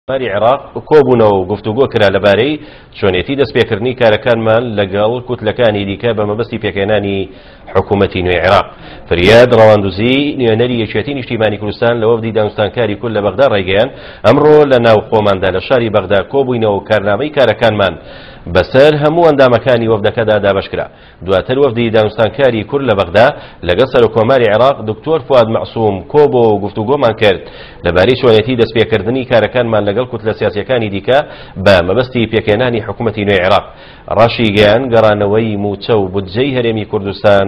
کۆماری عێراق کۆبوونەوە و گفتوگۆ کرا لەبارەی چۆنێتی دەستپێکردنی کارەکانمان لەگەڵ کوتلەکانی دیکە بە مەبەستی پێکهێنانی حکوومەتی نوێی عێراق. فریاد ڕەواندوزی، نوێنەری یەکێتی نیشتیمانی کوردستان لە وەفدی دانوستانکاری کورد لە بەغدا ڕایگەیاند، ئەمڕۆ لە ناو خۆماندا لە شاری بەغدا کۆبووینەوە و کارنامەی کارەکانمان بەسەر هەموو ئەندامەکانی وەفدەکەدا دابەشکرا. دواتر وەفدی دانوستانکاری کورد لە بەغدا لەگەڵ سەرۆککۆماری عێراق دکتۆر فواد مەعسوم کۆبۆوە و گفتوگۆمان کرد لەبارەی چۆنێتی دەستپێکردنی کارەکانمان لەگەڵ کوتلە سیاسییەکانی دیکە بە مەبەستی پێکهێنانی حکومەتی نوێی عێراق. ڕاشیگەیاند، گەڕانەوەی مووچە و بودجەی هەرێمی کوردستان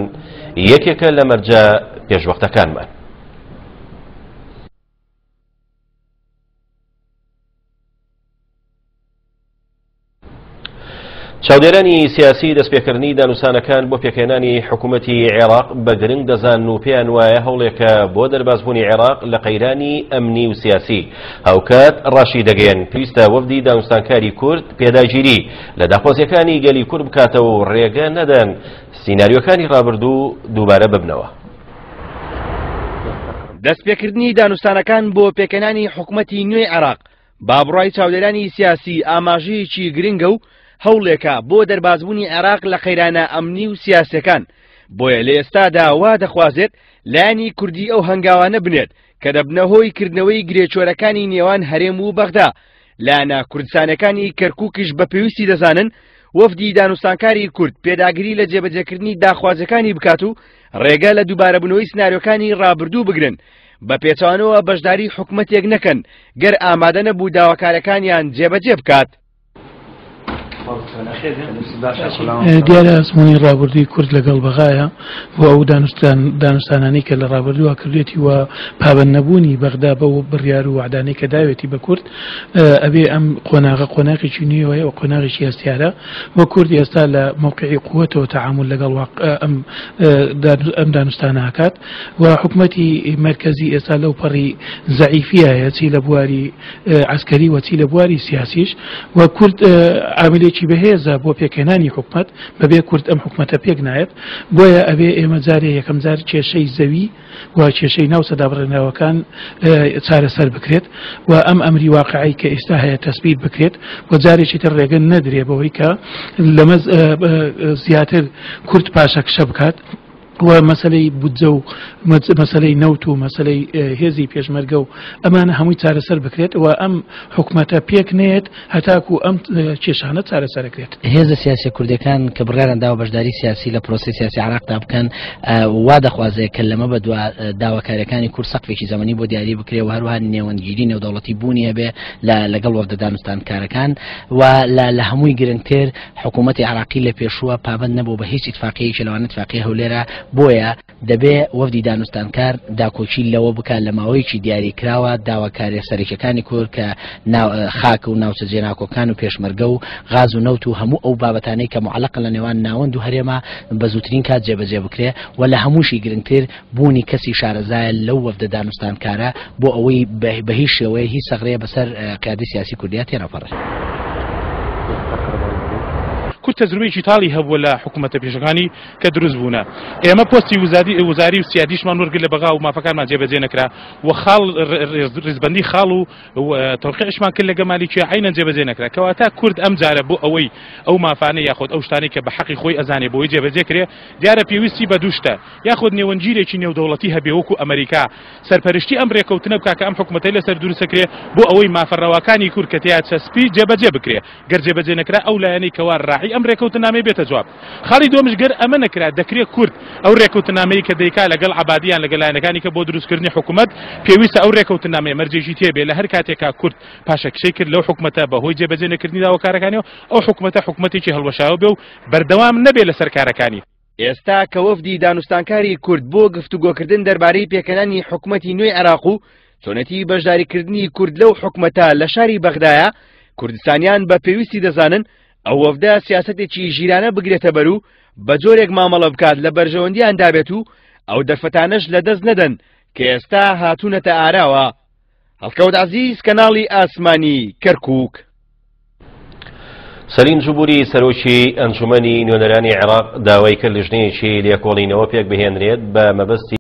یەکێکە لە مەرجە پێشوەختەکانمان. چاودێرانی سیاسی دەستپێکردنی دانوسانەکان بۆ پێکهێنانی حکوومەتی عێراق بە گرنگ دەزانن و پێیان وایە هەوڵێکە بۆ دەربازبوونی عێراق لە قەیرانی ئەمنی و سیاسی. هاوکات ڕاشی دەگەیەن پێویستە وەفدی دانوستانکاری کورد پێداگیری لە داخوازیەکانی گەلی کورد بکاتەوە و ڕێگە نەدەن سیناریۆکانی ڕابردوو دووبارە ببنەوە. دەستپێکردنی دانوستانەکان بۆ پێکهێنانی حکومەتی نوێی عێراق با بڕوای چاودێرانی سیاسی ئاماژەیەکی گرنگە و هەوڵێکە بۆ دەربازبوونی عێراق لە قەیرانە ئەمنی و سیاسیەکان، بۆیە لە ئێستادا وا دەخوازێت لایەنی کوردی ئەو هەنگاوانە بنێت کە دەبنە هۆی کردنەوەی گرێچۆرەکانی نێوان هەرێم و بەغدا، لایەنە کوردستانیەکانی کەرکوکیش بە پێویستی دەزانن وەفدی دانوستانکاری کورد پێداگری لە جێبەجێکردنی داخوازیەکانی بکات و ڕێگە لە دووبارەبوونەوەی سناریۆکانی ڕابردوو بگرن، بە پێچەوانەوە بەشداری حکومەتێک نەکەن گەر ئامادە نەبوو داواکارەکانیان جێبەجێ بکات. دیارە ئەزموونی ڕابردووی کورد لەگەڵ بەغایە و ئەو دانوستانانەی کە لە ڕابردووە کردوێتی و پابەند نەبوونی بەغدا بەو بڕیار و وەعدانەی کە داوێتی بە کورد ئەبێ ئەم قۆناغە قۆناغێکی نوێیە و قۆناغێکی هەستیارە و کورد ئێستا لە مەوقعی قوەتەوە تەعامول لەگەڵ ئەم ئەم دانوستانە ئەکات و حکومەتی مەرکەزی ئێستا لەو پەڕی زەعیفیایە چی لە بواری عەسکەری و چی لە بواری سیاسیش و کورد عاملێکی بەهێزە بۆ پێکهێنانی حکومەت، بەبێ کورد ئەم حکومەتە پێک نایەت، بۆیە ئەبێ ئێمە جارێ یەکەم جار کێشەی زەوی و کێشەی ناوچە دابڕێنراوەکان چارەسەر بکرێت و ئەم ئەمری واقعی کە ئێستا هەیە تەسبیت بکرێت و جارێکی تر ڕێگە نەدرێ بەوەی کە لەمە زیاتر کورد پاشەکشە بکات. و مەسەلەی بودجە و مەسەلەی نەوت و مەسەلەی هێزی پێشمەرگە و ئەمانە هەمووی چارەسەر بکرێت و ئەم حکومەتە پێک نەیەت هەتاکو ئەم کێشانە چارەسەرەکرێت. هێزە سیاسیە کوردیەکان کە بڕیاریان داوە بەشداری سیاسی لە پرۆسەی سیاسی عێراقدا بکەن وا دەخوازێت کە لەمە بەدوا داواکاریەکانی کورد سەقفێکی زەمەنی بۆ دیاری بکرێ و هەروەها نێوەندگیری نێودەوڵەتی بوونی هەبێ لەگەڵ وەفدە دانوستانکارەکان و لە هەمووی گرنگتر حکوومەتی عێراقی لە پێشووە پابەند نەبوو بە هیچ ئیتفاقیەیەکی لەوانە ئیتفاقیە هەولێرە، بۆیە دەبێ وەفدی دانوستانکار داکۆکی لەوە بکات لە ماوەیەکی دیاری کراوە داواکاریە سەرەکیەکانی کورد کە خاک و ناوچە جێناکۆکان و پێشمەرگە و غاز و نەوت و هەموو ئەو بابەتانەی کە معەلەقن لە نێوان ناوەند و هەرێمە بە زووترین کات جێبەجێ بکرێ و لە هەمووشی گرنگتر بوونی کەسی شارەزایە لەو وەفدە دانوستانکارە بۆ ئەوەی بە هیچ شێوەیە هیچ سەغرەیە بەسەر قیادەی سیاسی کوردیا تێنەپەڕێ. کورد تەجروبەیەکی تاڵی هەبووە لە حکوومەتە پێشەکانی کە دروست بوونە. ئێمە پۆستی وزادی وزاری و سیادیشمان وەرگرت لە بەغا و مافەکانمان جێبەجێ نەکرا و خاڵ ڕیزبەندی خاڵ و تەوقیعیشمان کرد لەگە مالیکیە عەینەن جێبەجێ نەکرا. کەواتە کورد ئەم جارە بۆ ئەوەی ئەو مافانە یاخود ئەو شتانەی کە بە حەقی خۆی ئەزانێ بۆی جێبەجێ کرێ دیارە پێویستی بە دوو شتە یاخود نێوەندگیرێکی نێودەوڵەتی هەبێ وەکو ئەمەریکا سەرپەرشتی ئەم رێکەوتنە بکا کە ئەم حکومەتەی لەسەر دروستەکرێ بۆ ئەوەی مافە رەواکانی کورد کە تێیا چەسپی جێبەجێ بکرێ گەر جێبەجێ نەکرا ئەو لایەنەی کەوا راعی ئەم رێکەوتنامەی بێتە جواب خاڵی دووەمش گەر ئەمە نەکرا دەکرێ کورد ئەو رێکەوتنامەی کە دەیکا لەگەڵ عەبادی یان لەگەڵ لایەنەکانی کە بۆ دروستکردنی حکومەت پێویستە ئەو رێکەوتنامەیە مەرجێکی تێبێ لە هەر کاتێکا کورد پاشەکشەی کرد لەو حکومەتە بەهۆی جێبەجێ نەکردنی داواکارەکانیەوە ئەو حکومەتە حکومەتێکی هەڵوەشاوە بێ و بەردەوام نەبێ لەسەر کارەکانی. ئێستا کە وەفدی دانوستانکاری کورد بۆ گفتوگۆکردن دەربارەی پێکهێنانی حکومەتی نوێی عێراق و چۆنێتی بەشداریکردنی کورد لەو حکومەتە لە شاری بەغدایە، کوردستانیان بە پێویستی دەزانن ئەو وەفدە سیاسەتێکی ژیرانە بگرێتە بەر و بە جۆرێک مامەڵە بکات لە بەرژەوەندیاندا بێت و ئەو دەرفەتانەش لەدەست نەدەن کە ئێستا هاتوونەتە ئاراوە. هەڵکەوت عەزیز، کەناڵی ئاسمانی، کەرکووک. سەلیم جبوری سەرۆکی ئەنجومەنی نوێنەرانی عێراق داوای کرد لیژنەیەکی لێکۆڵینەوە پێکبهێنرێت بە مەبەستی.